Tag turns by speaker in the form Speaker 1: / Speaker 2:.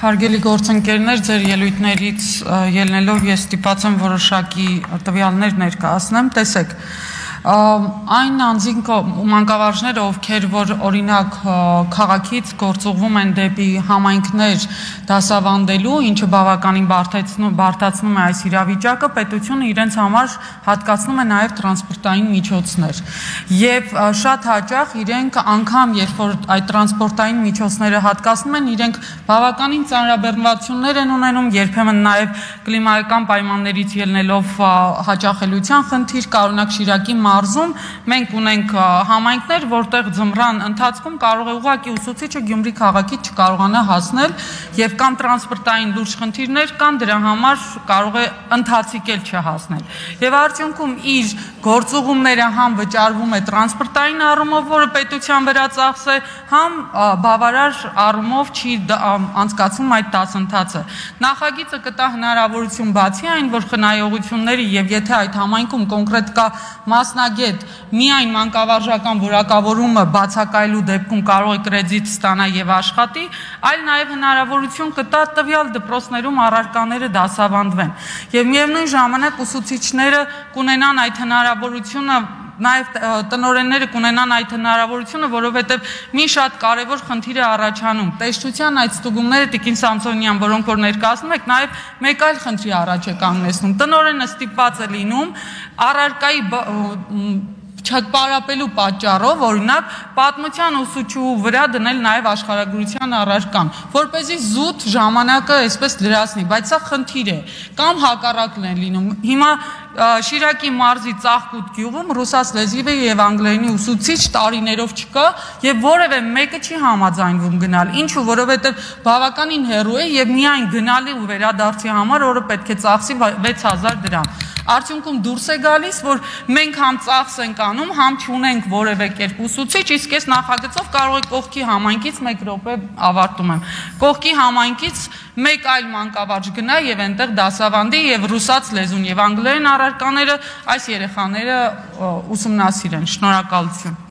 Speaker 1: Հարգելի գործընկերներ, ձեր ելույթներից ելնելով ես ստիպված եմ որոշակի տվյալներ ներկայացնեմ, տեսեք, այն անձինք մանկավարժները, ովքեր որ օրինակ քաղաքից գործուղվում են դեպի համայնքներ դասավանդելու, ինչը բավականին բարդացնում է այս իրավիճակը, պետությունը իրենց համար հատկացնում է նաև տրանսպորտային միջոցներ եւ շատ հաճախ իրենք անգամ երբ որ այդ տրանսպորտային միջոցները հատկացնում են, իրենք բավականին ծանրաբեռնվածություններ են ունենում, երբեմն նաև կլիմայական պայմաններից ելնելով հաճախելիության խնդիր, օրինակ Շիրակի մարզում մենք ունենք համայնքներ, որտեղ ձմռան ընթացքում կարող է ուղղակի ուսուցիչը Գյումրի քաղաքից չկարողանա հասնել եւ կամ տրանսպորտային լուրջ խնդիրներ կան, դրա համար կարող է ընթացիկել չհասնել։ Եվ արդյունքում իր գործուղումները համ վճարվում է տրանսպորտային առումով, որը պետության վրա ծախս է, համ բավարար առումով չի անցկացվում այդ դասընթացը։ Նախագիծը կտա հնարավորություն բացի այն, որ խնայողությունների եւ եթե այդ համայնքում կոնկրետ կա մասնագետ միայն մանկավարժական որակավորումը բացակայելու դեպքում կարող է կրեդիտ ստանա եւ աշխատի, այլ նաեւ հնարավորություն կտա տվյալ դպրոցներում առարկաները դասավանդվեն։ Եվ միևնույն ժամանակ ուսուցիչները կունենան այդ հնարավորությունը, նաև տնօրենները կունենան այդ հնարավորությունը, որովհետև մի շատ կարևոր խնդիր է առաջանում։ Տեսչության այդ ստուգումները Տիկին Սամսոնյան, որոնք որ ներկայացնում եք, նաև մեկ այլ խնդրի առաջ է կանգնեցնում։ Տնօրենը ստիպված է լինում առարկայի չպարապելու պատճառով, օրինակ, պատմության ուսուցչու վրա դնել նաև աշխարհագրության առարկան, որպեսզի զուտ ժամանակը այսպես լրացնի, բայց սա խնդիր է, կամ հակառակն է լինում։ Հիմա Շիրակի մարզի Ծաղկուտ գյուղում ռուսաց լեզվի եւ անգլերենի ուսուցիչ տարիներով չկա եւ որևէ մեկը չի համաձայնվում գնալ, ինչու, որովհետեւ բավականին հեռու է եւ միայն գնալի ու վերադարձի համար օրը պետք է ծախսի 6000 դրամ։ Արդյունքում դուրս է գալիս, որ մենք համ ծախս ենք անում, համ չունենք որևէ կերպ ուսուցիչ, իսկ այս նախագծով կարող է կողքի համայնքից 1 րոպե ավարտում եմ։ Կողքի համայնքից մեկ այլ մանկավարժ գնա եւ այնտեղ դասավանդի եւ ռուսաց լեզուն եւ անգլերեն առարկաները այս երեխաները ուսումնասիրեն։ Շնորհակալություն։